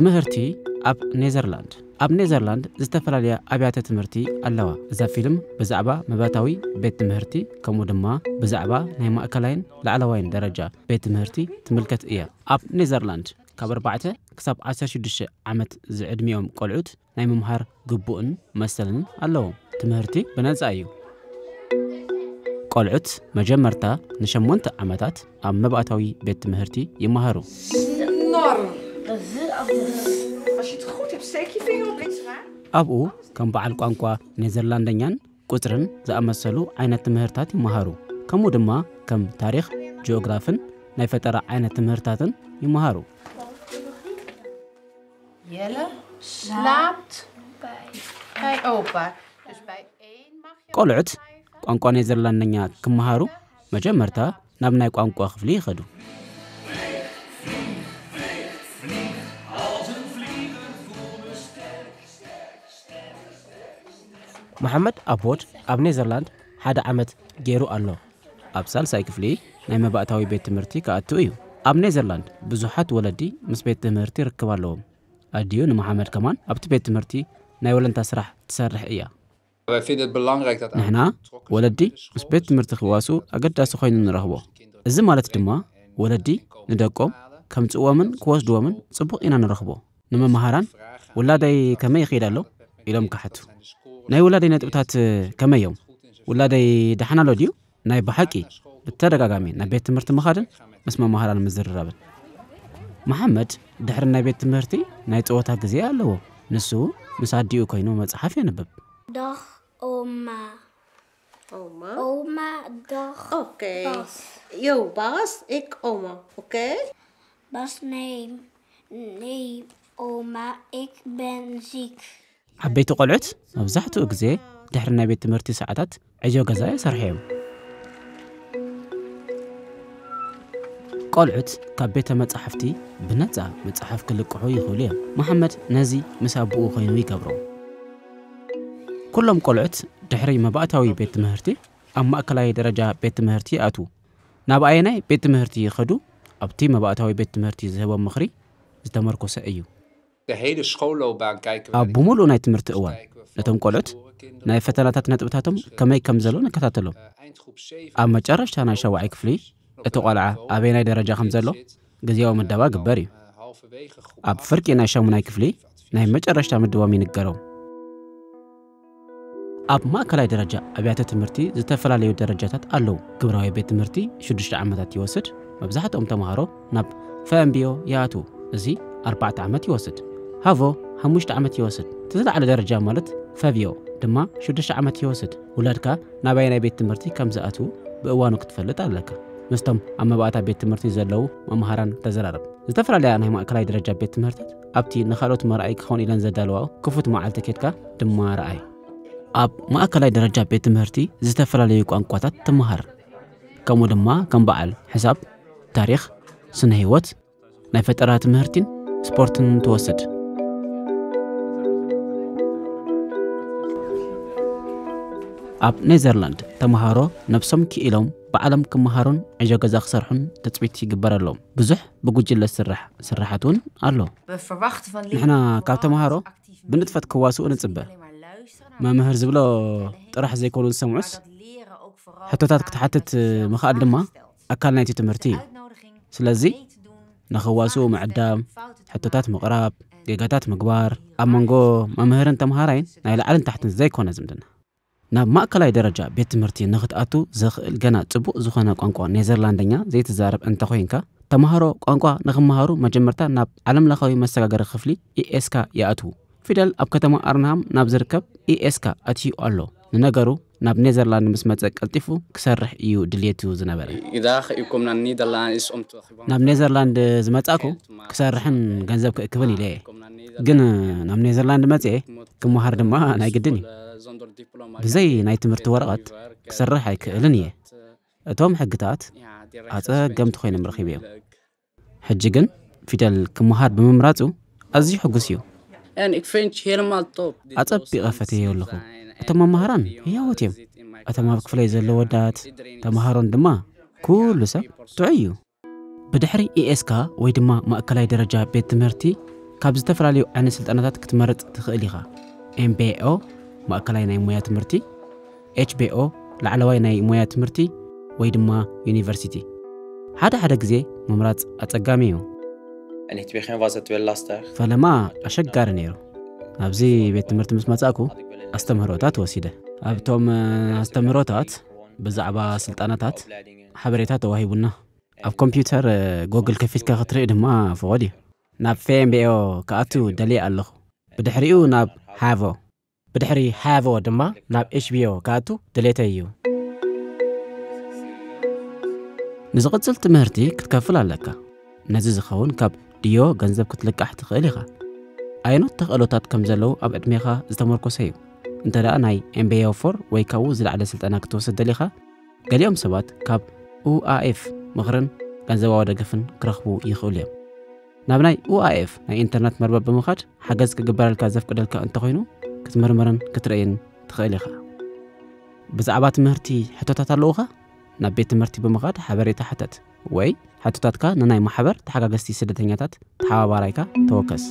ትምህርቲ ኣብ ኔዘርላንድ። ኣብ ኔዘርላንድ ዝተፈላለያ ኣብያተ ትምህርቲ ኣለዋ። እዛ ፊልም ብዛዕባ መባታዊ ቤት ትምህርቲ፣ ከምኡ ድማ ብዛዕባ ናይ ማእከላይን ላዕለዋይን ደረጃ ቤት ትምህርቲ ትምልከት እያ። ኣብ ኔዘርላንድ ካብ ኣርባዕተ ክሳብ ዓሰርተ ሽዱሽተ ዓመት ዝዕድሚኦም ቆልዑት ናይ ምምሃር ግቡእን መሰልን ኣለዎም። ትምህርቲ ብነጻ እዩ። ቆልዑት መጀመርታ ንሸሞንተ ዓመታት ኣብ መባእታዊ ቤት ትምህርቲ ይመሃሩ። Enorm. Als je het goed hebt, steek je vinger op links raar. ኣብኡ ከም በዓል ቋንቋ ኔዘርላንደኛን ቁጽርን ዝኣመሰሉ ዓይነት ትምህርታት ይመሃሩ። ከምኡ ድማ ከም ታሪኽ፣ ጂኦግራፍን ናይ ፈጠራ ዓይነት ትምህርታትን ይመሃሩ። Jelle slaapt bij opa. Dus bij één mag je ቆልዑት ቋንቋ ኔዘርላንደኛ ክመሃሩ መጀመርታ ናብ ናይ ቋንቋ ክፍሊ ይኸዱ። መሓመድ ኣቦድ ኣብ ኔዘርላንድ ሓደ ዓመት ገይሩ ኣሎ። ኣብ ሳልሳይ ክፍሊ ናይ መባእታዊ ቤት ትምህርቲ ክኣቱ እዩ። ኣብ ኔዘርላንድ ብዙሓት ወለዲ ምስ ቤት ትምህርቲ ርክብ ኣለዎም። ኣዲኡ ንመሓመድ ከማን ኣብቲ ቤት ትምህርቲ ናይ ወለንታ ስራሕ ትሰርሕ እያ። Wij vinden het belangrijk dat ንሕና ወለዲ ምስ ቤት ትምህርቲ ክዋስኡ ኣገዳሲ ኮይኑ ንረኽቦ። እዚ ማለት ድማ ወለዲ ንደቆም ከምጽእዎምን ክወስድዎምን ጽቡቕ ኢና ንረኽቦ። ንመምሃራን ውላደይ ከመይ ይኸይድ ኣሎ ኢሎም ክሓቱ። ናይ ውላደይ ነጥብታት ከመይ እዮም? ውላደይ ደሓን ኣሎ ድዩ? ናይ ብሓቂ ብተደጋጋሚ ናብ ቤት ትምህርቲ ምኻድን ምስ መምሃራን ምዝርራብን። መሓመድ ድሕሪ ናይ ቤት ትምህርቲ ናይ ጸወታ ግዜ ኣለዎ። ንሱ ምስ ኣዲኡ ኮይኑ መጽሓፍ የንብብ። Dag oma. Oma. Oma, dag. Oké. Bas. Yo, Bas, ik oma. Oké? Bas, nee. Nee, oma, ik ben ziek. ዓበይቲ ቆልዑት መብዛሕትኡ ግዜ ድሕሪ ናይ ቤት ትምህርቲ ሰዓታት ዕዮ ገዛ ይሰርሑ እዮም። ቆልዑት ካብ ቤተ መጻሕፍቲ ብነጻ መጽሓፍ ክልቅሑ ይኽእሉ እዮም። መሓመድ ነዚ ምስ ኣቦኡ ኮይኑ ይገብሮ። ኩሎም ቆልዑት ድሕሪ መባእታዊ ቤት ትምህርቲ ኣብ ማእከላይ ደረጃ ቤት ትምህርቲ ይኣትዉ። ናብ ኣየናይ ቤት ትምህርቲ ይኸዱ? ኣብቲ መባእታዊ ቤት ትምህርቲ ዝህቦም ምኽሪ ዝተመርኮሰ እዩ። De hele schoolloopbaan kijken we. ኣብ ብምሉእ ናይ ትምህርቲ እዋን ነቶም ቆልዑት ናይ ፈተናታት ነጥብታቶም ከመይ ከም ዘሎ ንከታተሎም። ኣብ መጨረሽታ ናይ ሻውዓይ ክፍሊ እቲ ቆልዓ ኣበየናይ ደረጃ ከም ዘሎ ግዜያዊ ምደባ ግበር እዩ። ኣብ ፍርቂ ናይ ሻሙናይ ክፍሊ ናይ መጨረሽታ ምድቦም ይንገሮም። ኣብ ማእከላይ ደረጃ ኣብያተ ትምህርቲ ዝተፈላለዩ ደረጃታት ኣለዉ። ግብራዊ ቤት ትምህርቲ ሽዱሽተ ዓመታት ይወስድ። መብዛሕትኦም ተምሃሮ ናብ ፈእምቢዮ ይኣትዉ። እዚ ኣርባዕተ ዓመት ይወስድ። ሃቮ ሓሙሽተ ዓመት ይወስድ። እቲ ዝለዓለ ደረጃ ማለት ፈቪዮ ድማ ሽዱሽተ ዓመት ይወስድ። ውላድካ ናባይ ናይ ቤት ትምህርቲ ከም ዝኣትዉ ብእዋኑ ክትፈልጥ ኣለካ። ምስቶም ኣብ መባእታ ቤት ትምህርቲ ዘለዉ መምሃራን ተዘራረብ። ዝተፈላለያ ናይ ማእከላይ ደረጃ ቤት ትምህርታት ኣብቲ ንኻልኦት መርኣይ ክኸውን ኢለን ዘዳለዋ ክፉት መዓልቲ ኬድካ ድማ ረኣይ። ኣብ ማእከላይ ደረጃ ቤት ትምህርቲ ዝተፈላለዩ ቋንቋታት ትመሃር። ከምኡ ድማ ከም በዓል ሕሳብ፣ ታሪኽ፣ ስነ ህይወት፣ ናይ ፈጠራ ትምህርቲን ስፖርትን ትወስድ። ኣብ ኔዘርላንድ ተምሃሮ ነብሶም ክኢሎም ባዕሎም ክመሃሩን ዕዮ ገዛ ክሰርሑን ትጽቢት ይግበረሎም። ብዙሕ ብጉጅለ ስራሕ ስራሓት እውን ኣሎ። We verwachten van ንሕና ካብ ተምሃሮ ብንጥፈት ክዋስኡ ንጽበ። መምህር ዝብሎ ጥራሕ ዘይኮኑ ዝሰምዑስ ሕቶታት ክትሓትት ምኽኣል ድማ ኣካል ናይቲ ትምህርቲ እዩ። ስለዚ ንኽዋስኡ ምዕዳም፣ ሕቶታት ምቕራብ፣ ጌጋታት ምግባር፣ ኣብ መንጎ መምህርን ተምሃራይን ናይ ላዕልን ታሕትን ዘይኮነ ዝምድና። ናብ ማእከላይ ደረጃ ቤት ትምህርቲ ንኽትኣቱ ዘኽእል ገና ጽቡቕ ዝኾነ ቋንቋ ኔዘርላንደኛ ዘይትዛረብ እንተኾይንካ፣ ተምሃሮ ቋንቋ ንኽመሃሩ መጀመርታ ናብ ዓለምለኻዊ መሰጋገሪ ክፍሊ ኢኤስካ ይኣትዉ። ፊደል ኣብ ከተማ ኣርንሃም ናብ ዝርከብ ኢኤስካ ኣትዩ ኣሎ። ንነገሩ ናብ ኔዘርላንድ ምስ መጸ ቀልጢፉ ክሰርሕ እዩ ድልየቱ ዝነበረ። Idaha ikomna Nederland is om te ናብ ኔዘርላንድ ዝመጻእኩ ክሰርሕን ገንዘብ ክእክብን ኢለ እየ። ግን ናብ ኔዘርላንድ መጽኤ ክመሃር ድማ ናይ ግድን እዩ። ብዘይ ናይ ትምህርቲ ወረቐት ክሰርሕ ኣይክእልን እየ። እቶም ሕግታት ኣጸገምቲ ኮይኖም ረኺበዮም። ሕጂ ግን ፊደል ክመሃር ብምምራጹ ኣዝዩ ሕጉስ እዩ። En ik vind het helemaal top. ኣጸቢቐ ፈትየዮ ኣለኹ። እቶም መምሃራን ህያዎት እዮም። እቶም ኣብ ክፍለይ ዘለዉ ወዳት ተምሃሮን ድማ ኩሉ ሰብ ጥዑይ እዩ። ብድሕሪ ኢኤስካ ወይ ድማ ማእከላይ ደረጃ ቤት ትምህርቲ ካብ ዝተፈላለዩ ዓይነት ስልጠናታት ክትመርጽ ትኽእል ኢኻ። M B O፣ ማእከላይ ናይ ሞያ ትምህርቲ፣ H B O፣ ላዕለዋይ ናይ ሞያ ትምህርቲ፣ ወይ ድማ ዩኒቨርሲቲ። ሓደ ሓደ ግዜ ምምራጽ ኣጸጋሚ እዩ። En het begin was het wel lastig. ፈለማ ኣሸጋሪ ነይሩ። ኣብዚ ቤት ትምህርቲ ምስ መጻእኩ ኣስተምህሮታት ወሲደ። ኣብቶም ኣስተምህሮታት ብዛዕባ ስልጠናታት ሓበሬታ ተዋሂቡና። ኣብ ኮምፒውተር ጎግል ከፊትካ ክትርኢ ድማ ፍቑድ እዩ። ናብ ፌምቤኦ ክኣቱ ደልየ ኣለኹ። ብድሕሪኡ ናብ ሃቮ፣ ብድሕሪ ሃቮ ድማ ናብ ኤች ቢ ኦ ክኣቱ ድሌተይ እዩ። ንዝቕጽል ትምህርቲ ክትከፍል ኣለካ። ነዚ ዝኸውን ካብ ድዮ ገንዘብ ክትልቃሕ ትኽእል ኢኻ። ኣየኖት ተኽእሎታት ከም ዘለዉ ኣብ ዕድሜኻ ዝተመርኮሰ እዩ። እንተ ደኣ ናይ ኤምቤዮ ፎር ወይ ካብኡ ዝለዓለ ስልጠና ክትወስድ ደሊኻ፣ ገሊኦም ሰባት ካብ ዩ ኤፍ ምኽርን ገንዘባዊ ደገፍን ክረኽቡ ይኽእሉ እዮም። ናብ ናይ ዩ ኤፍ ናይ ኢንተርነት መርበብ ብምኻድ ሓገዝ ክግበረልካ ዘፍቅደልካ እንተኾይኑ ክትምርምርን ክትርእይን ትኽእል ኢኻ። ብዛዕባ ትምህርቲ ሕቶታት ኣለዉኻ? ናብ ቤት ትምህርቲ ብምኻድ ሓበሬታ ሕተት ወይ ሕቶታትካ ንናይ ማሕበር ተሓጋገዝቲ ስደተኛታት ተሓባባራይካ ተወከስ።